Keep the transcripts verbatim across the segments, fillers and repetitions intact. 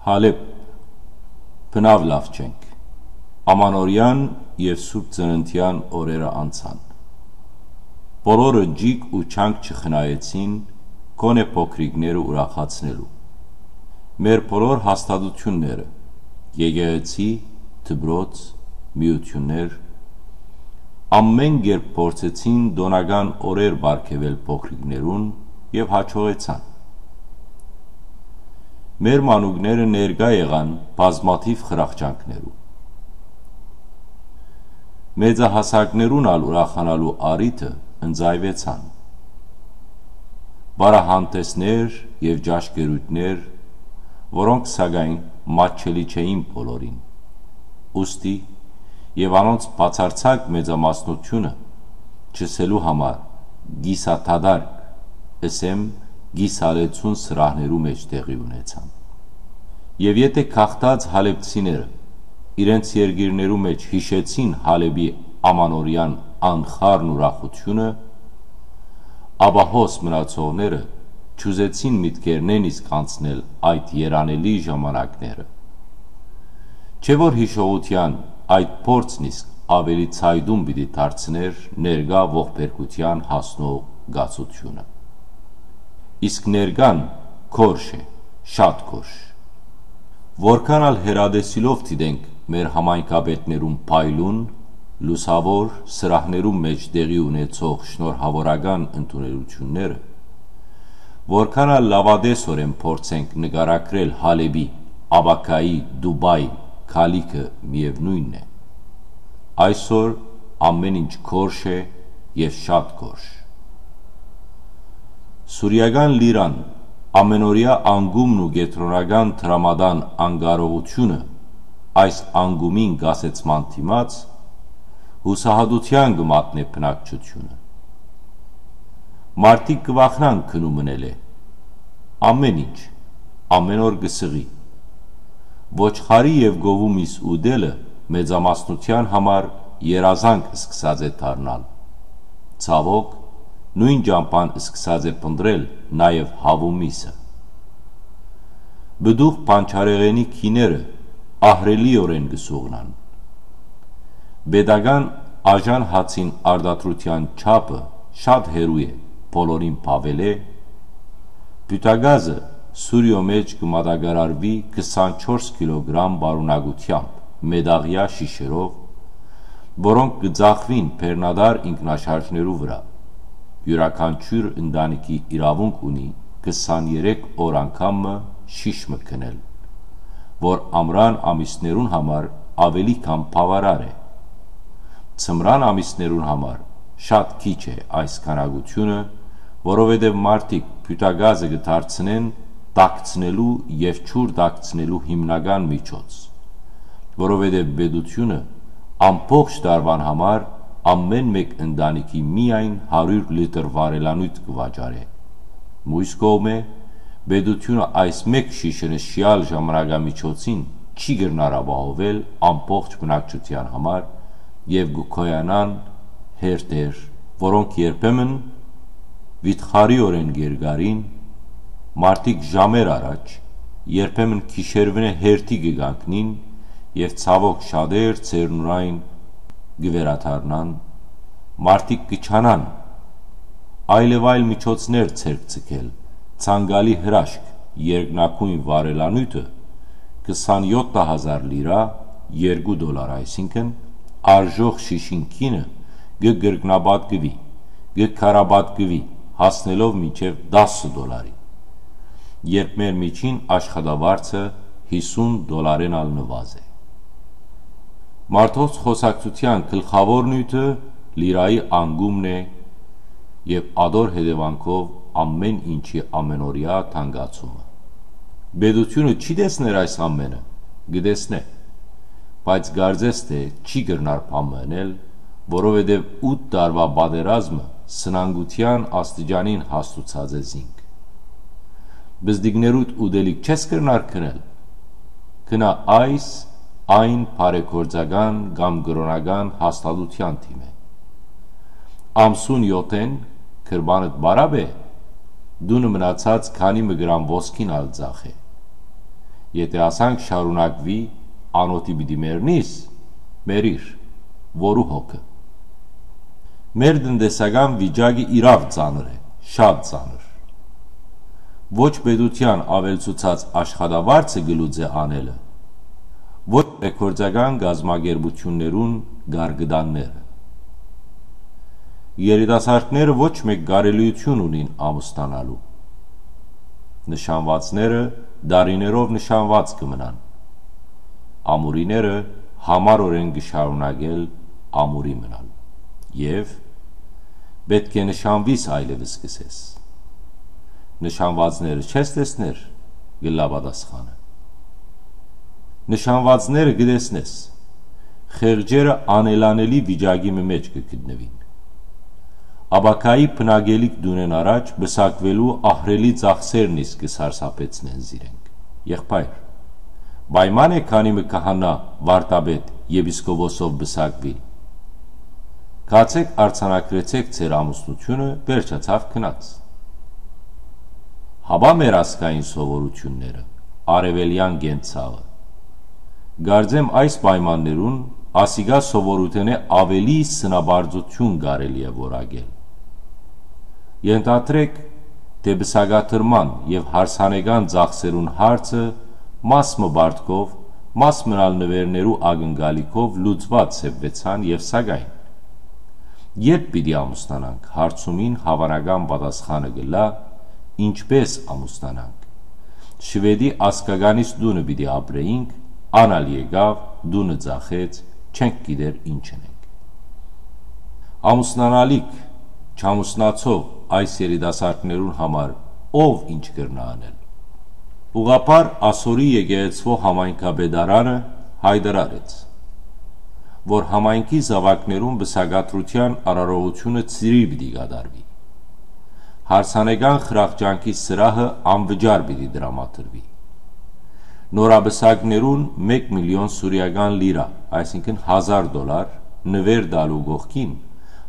Հալեբ, բնաւ լաւ չենք։ Ամանորեան եւ Սուրբ Ծննդեան օրերը անցան։ Բոլորը ջիկ ու չանկ չխնայեցին, գոնէ փոքրիկները ուրախացնելու։ Մեր բոլոր հաստատութիւնները, եկեղեցի, դպրոց, միութիւններ, ամէն կերպ փորձեցին տօնական օրեր պարգեւել փոքրիկներուն եւ յաջողեցան։ Մեր մանուկները ներկայ եղան բազմաթիւ խրախճանքներու։ Մեծահասակներուն ալ ուրախանալու առիթը ընծայուեցան։ Պարահանդեսներ եւ ճաշկերութներ, որոնք սակայն մատչելի չէին բոլորին։ Ուստի եւ անոնց բացարձակ մեծամասնությունը, չըսելու համար կիսադատարկ, ըսեմ, կիսալեցուն սրահներու մէջ տեղի ունեցան։ Եւ եթէ գաղթած հալեբցիները իրենց երկիրներու մէջ յիշեցին Հալեբի ամանորեան անխառն ուրախութիւնը, ապա հոս մնացողները չուզեցին միտքերնէն իսկ անցնել այդ երանելի ժամանակները։ Չէ՞ որ յիշողութեան այդ փորձն իսկ աւելի ցայտուն պիտի դարձնէր ներկայ ողբերգութեան հասնող կացութիւնը։ Իսկ ներկան գորշ է, շատ գորշ։ Որքան ալ հեռատեսիլով դիտենք մեր համայնքապետներուն փայլուն, լուսաւոր սրահներուն մէջ տեղի ունեցող շնորհաւորական ընդունելութիւնները, որքան ալ լաւատեսօրէն փորձենք նկարագրել Հալեբի, ապագայի Դուբայ գալիքը, միեւնոյնն է, այսօր ամէն ինչ գորշ է եւ շատ գորշ։ Սուրիական լիրան, ամէնօրեայ անկումն ու կեդրոնական դրամատան անկարողութիւնը այս անկումին կասեցման դիմաց, յուսահատութեան կը մատնէ բնակչութիւնը։ Մարդիկ կը վախնան գնու մնելէ։ Ամէն ինչ, ամէն օր կը սղի։ Ոչխարի եւ գովու միս ուտելը մեծամասնութեան համար երազանք սկսած է դառնալ։ Ցաւօք, նոյն ճամբան սկսած է փնտռել նաեւ հաւու միսը։ Պտուղ պանչարեղենի գիները ահռելիօրէն կը սուղնան։ Պետական աժան հացին արտադրութեան չափը շատ հեռու է բոլորին բաւելէ։ Պիւտակազը Սուրիոյ մէջ կը մատակարարուի քսանչորս կիլոգրամ պարունակութեամբ մետաղեայ շիշերով, որոնք կը ծախուին բեռնատար ինքնաշարժներու վրայ։ Իւրաքանչիւր ընտանիքի իրաւունք ունի քսաներեք օր անգամ մը շիշ մը գնել, որ ամրան ամիսներուն համար աւելի քան բաւարար է։ Ձմրան ամիսներուն համար շատ քիչ է այս քանակութիւնը, որովհետեւ մարդիկ պիւտակազը կը դարձնեն տաքցնելու եւ ջուր տաքցնելու հիմնական միջոց, որովհետեւ պետութիւնը ամբողջ տարուան համար ամէն մէկ ընտանիքի միայն հարիւր լիտր վառելանիւթ կը վաճառէ։ Մյուս կողմէ, պետութիւնը այս մէկ շիշը նշեալ ժամանակամիջոցին չի կրնար ապահովել ամբողջ բնակչութեան համար եւ կը գոյանան հերթեր, որոնք երբեմն վիթխարիօրէն կ'երկարին, մարդիկ ժամեր առաջ, երբեմն գիշերուինէ հերթի կը կանգնին եւ ցաւօք շատեր ձեռնունայն կը վերադառնան, մարդիկ կը չանան այլեւայլ միջոցներ ձեռք ձգել, ցանկալի հրաշք, երկնագոյն վառելանիւթը քսանեօթ հազար լիրա, երկու դոլար այսինքն, արժող շիշին գինը կը կրկնապատկուի, կը քարապատկուի, հասնելով մինչեւ տասը դոլարի, երբ մեր միջին աշխատավարձը հիսուն դոլարէն ալ նուազ է։ Մարդոց խօսակցութեան գլխաւոր նիւթը լիրայի անկումն է եւ ատոր հետեւանքով ամէն ինչի ամէնօրեայ թանկացումը։ Պետութիւնը չի տեսներ այս ամէնը, կը տեսնէ, բայց կարծես թէ չի կրնար բան մը ընել, որովհետեւ ութ տարուայ պատերազմը սնանկութեան աստիճանին հասցուցած է զինք։ Բզդիկներուդ ուտելիք չես կրնար գնել, գնա այս, այն բարեգործական կամ կրօնական հաստատութեան դիմէ։ Ամսուն եօթէն գրպանդ պարապ է, տունը մնացած քանի մը գրամ ոսկին ալ ձախ է։ Եթէ ասանք շարունակուի, անօթի պիտի մեռնիս, մեռիր, որու հոգը։ Մեր տնտեսական վիճակը իրաւ ծանր է, շատ ծանր։ Ոչ պետութեան աւելցուցած աշխատավարձը կը լուծէ անելը, ոչ է գործական կազմակերպութիւններուն գարկդանները։ Երիտասարդները ոչ մէկ կարելիութիւն ունին ամուսնանալու։ Նշանվածները դարիներով նշանված կը մնան։ Ամուրիները համառօրէն կը շարունակել ամուրի մնալ։ Եւ պէտք է նշանվիս այլեւս կ'ըսես։ Նշանվածները չես տեսներ, կ'ըլլայ պատասխանը։ Նշանվածները կը տեսնես։ Խեղճերը անելանելի վիճակի մը մէջ կը գտնուին։ Ապագայի բնակելիք տունէն առաջ պսակուելու ահռելի ծախսերն իսկ կը սարսափեցնեն զիրենք։ Եղբայր, պայման է քանի մը քահանայ, վարդապետ, եպիսկոպոսով պսակուիլ։ Գացէք, արձանագրեցէք ձեր ամուսնութիւնը, վերջացաւ, գնաց։ Հապա մեր ազգային սովորութիւնները, արեւելեան կենցաղը։ Կարծեմ այս պայմաններուն ասիկա սովորութենէ աւելի սնապարծութիւն կարելի է որակել։ Ենթադրեք, թէ պսակադրման եւ հարսանեկան ծախսերուն հարցը մաս մը պարտքով, մաս մնալ նուէրներու ակնկալիքով լուծուած սեպվեցան եւ սակայն, երբ պիտի ամուսնանանք, հարցումին հաւանական պատասխանը կ'ըլլայ. ինչպէս ամուսնանանք։ Շուէդի ազգականիս տունը պիտի ապրէինք, ան ալ եկաւ, տունը ծախեց, չենք գիտեր ինչ ընենք։ Ամուսնանալիք, չամուսնացող այս երիտասարդներուն համար ով ինչ կրնայ անել։ Ուղղափառ ասորի եկեղեցւոյ համայնքապետարանը յայտարարեց, որ համայնքի զաւակներուն պսակադրութեան արարողութիւնը ծիրի պիտի կատարուի։ Հարսանեկան խրախճանքի սրահը անվճար պիտի տրամադրուի։ Նորապսակներուն մէկ միլիոն սուրիական լիրա, այսինքն հազար դոլար, նուէր տալու կողքին,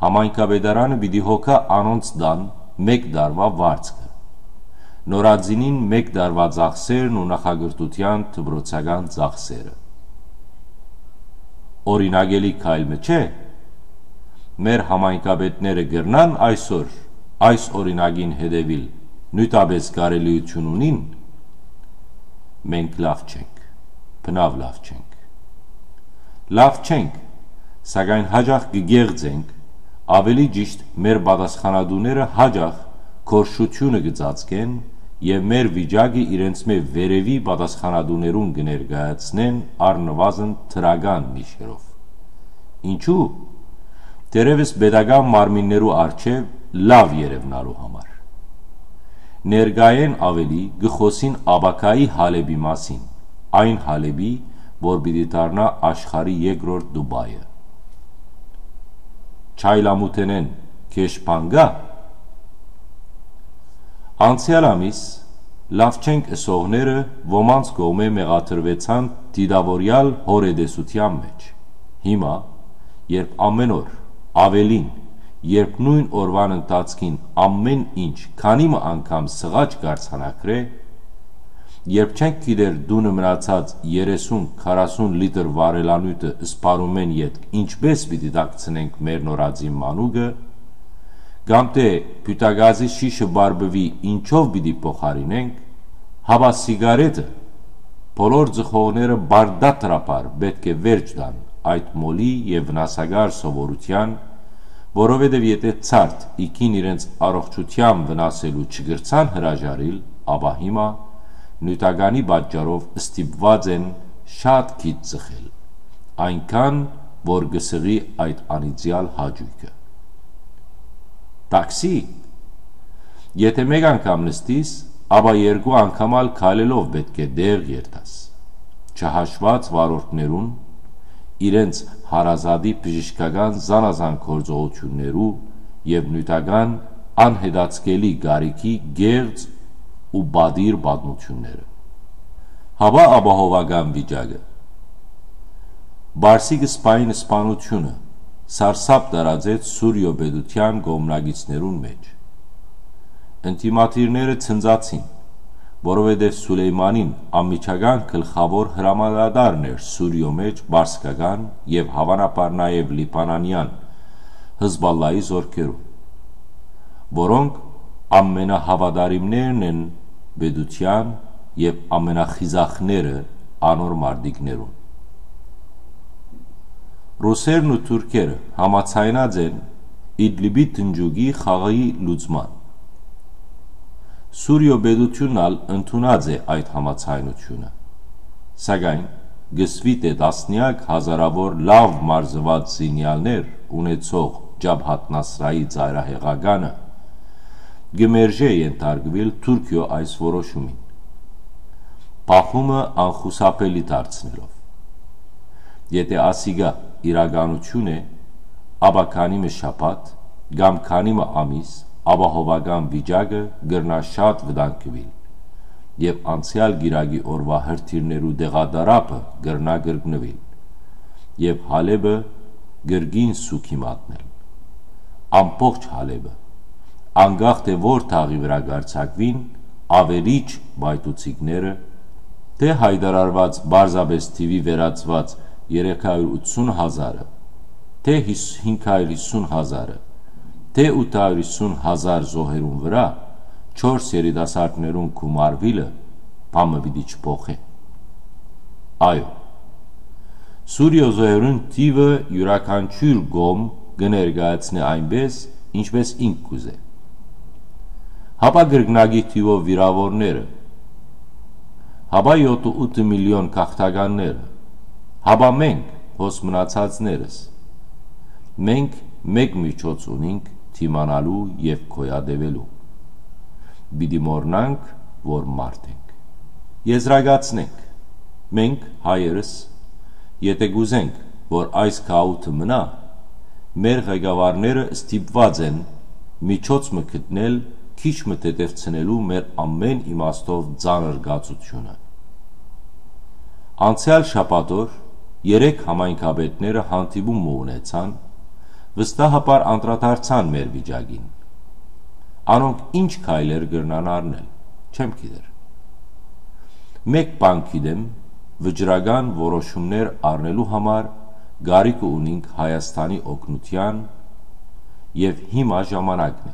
համայնքապետարանը պիտի հոգայ անոնց տան մէկ տարուայ վարձքը, նորածինին մէկ տարուայ ծախսերն ու նախակրթութեան դպրոցական ծախսերը։ Օրինակելի քայլ մը չէ՞։ Մեր համայնքապետները կրնան այսօր այս օրինակին հետեւիլ, նիւթապէս կարելիութիւն ունին։ Մենք լաւ չենք, բնաւ լաւ չենք։ Լաւ չենք, սակայն յաճախ կը կեղծենք, աւելի ճիշդ, մեր պատասխանատուները յաճախ գորշութիւնը կը ծածկեն եւ մեր վիճակը իրենցմէ վերեւի պատասխանատուներուն կը ներկայացնեն առնուազն դրական նիշերով։ Ինչու՞։ Դերեւս պետական մարմիններու առջեւ լաւ երեւնալու համար։ Ներկայէն աւելի կը խօսին ապագայի Հալէպի մասին, այն Հալէպի, որ պիտի դառնայ աշխարհի երկրորդ Դուբայը։ Չայլամութենէն գէշ բան կա՞։ Անցեալ ամիս լաւ չենք ըսողները ոմանց կողմէ մեղադրուեցան դիտաւորեալ հորետեսութեան մէջ։ Հիմա, երբ ամէն օր, աւելին, երբ նոյն օրուան ընթացքին ամէն ինչ քանի մը անգամ սղաճ կ'արձանագրէ, երբ չենք գիտեր տունը մնացած երեսուն քառասուն լիտր վառելանիւթը սպառումէն ետք ինչպէս պիտի տաքցնենք մեր նորածին մանուկը, կամ թէ փիւթագազի շիշը պարպուի ինչով պիտի փոխարինենք, հապա սիգարետը բոլոր ձխողները պարտադրաբար պէտք է վերջ տան այդ մոլի եւ վնասակար սովորութեան, որովհետեւ եթէ ցարդ իքին իրենց առողջութեան վնասելու չկրցան հրաժարիլ, ապա հիմա նիւթականի պատճառով ստիպուած են շատ քիչ ձխել, այնքան որ կը սղի այդ անիծեալ հաճոյքը։ Տաքսի։ Եթէ մէկ անգամ նստիս, ապա երկու անգամ ալ քայլելով պէտք է տեղ երթաս, չհաշուած վարորդներուն, իրենց հարազատի բժշկական զանազան գործողութիւններու եւ նիւթական անհետաձգելի կարիքի կեղծ ու պատիր պատմութիւնները։ Հապա ապահովական վիճակը։ Պարսիկ սպային սպանութիւնը սարսափ տարածեց Սուրիոյ պետութեան կողմնակիցներուն մէջ։ Ընդդիմադիրները ցնծացին, որովհետեւ Սուլեյմանին անմիջական գլխաւոր հրամանատարն էր Սուրիոյ մէջ պարսկական եւ հաւանաբար նաեւ լիբանանեան Հզբալլայի զօրքերուն, որոնք ամենահաւատարիմներն են պետութեան եւ ամենախիզախները անոր մարտիկներուն։ Ռուսերն ու թուրքերը համաձայնած են Իդլիբի տնջուկի խաղի լուծման։ Սուրիոյ պետութիւնն ալ ընդունած է այդ համաձայնութիւնը, սակայն կ'ըսուի թէ տասնեակ հազարաւոր լաւ մարզուած զինեալներ ունեցող Ջաբհաթ Նասրայի ծայրահեղականը կը մերժէ ենթարկուիլ Թուրքիոյ այս որոշումին, բախումը անխուսափելի դարձնելով։ Եթէ ասիկա իրականութիւն է, ապա քանի մը շաբաթ կամ քանի մը ամիս ապահովական վիճակը կրնայ շատ վտանգուիլ, եւ անցեալ կիրակի օրուայ հրթիռներու տեղատարափը կրնայ կրկնուիլ, եւ Հալէպը կրկին սուգի մատնել։ Ամբողջ Հալէպը, անկախ թէ որ թաղի վրայ կ'արձակուին, աւերիչ պայթուցիկները, թէ յայտարարուած պարզապէս թիւի վերածուած երեք հարիւր ութսուն հազարը, թէ հիս-, հինգ հարիւր յիսուն հազարը, թէ ութ հարիւր յիսուն հազար զոհերուն վրայ չորս երիտասարդներուն գումարուիլը բան մը պիտի չփոխէ։ Այո, Սուրիոյ զոհերուն թիւը իւրաքանչիւր կողմ կը ներկայացնէ այնպէս, ինչպէս ինք կ'ուզէ։ Հապա կրկնակի թիւով վիրաւորները, հապա յոթ ութ միլիոն գաղթականները, հապա մենք, հոս մնացածներս։ Մենք մէկ միջոց ունինք դիմանալու եւ գոյատեւելու։ Պիտի մոռնանք, որ մարդ ենք։ Եզրակացնենք, մենք, հայերս, եթէ կ'ուզենք, որ այս գաղութը մնայ, մեր ղեկավարները ստիպուած են միջոց մը գտնել քիչ մը թեթեւցնելու մեր ամէն իմաստով ծանր կացութիւնը։ Անցեալ շաբաթօր երեք համայնքապետները հանդիպում մը ունեցան, վստահաբար անդրադարձան մեր վիճակին։ Անոնք ինչ քայլեր կրնան առնել, չեմ գիտեր։ Մէկ բան գիտեմ, վճռական որոշումներ առնելու համար կարիքը ունինք Հայաստանի օգնութեան եւ հիմա ժամանակն է,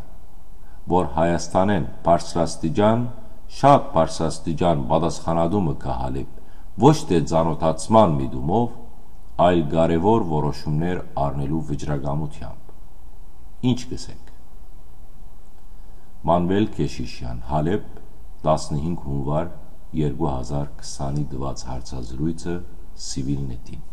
որ Հայաստանէն բարձրաստիճան, շատ բարձրաստիճան պատասխանատու մը գայ Հալէպ, ոչ թէ ծանօթացման միտումով, այլ կարեւոր որոշումներ առնելու վճռակամութեամբ։ Ինչ կ'ըսենք։ Մանուէլ Քեշիշեան, Հալէպ, տասնհինգ հունուար երկու հազար քսանի տուած հարցազրոյցը Սիվիլնետին։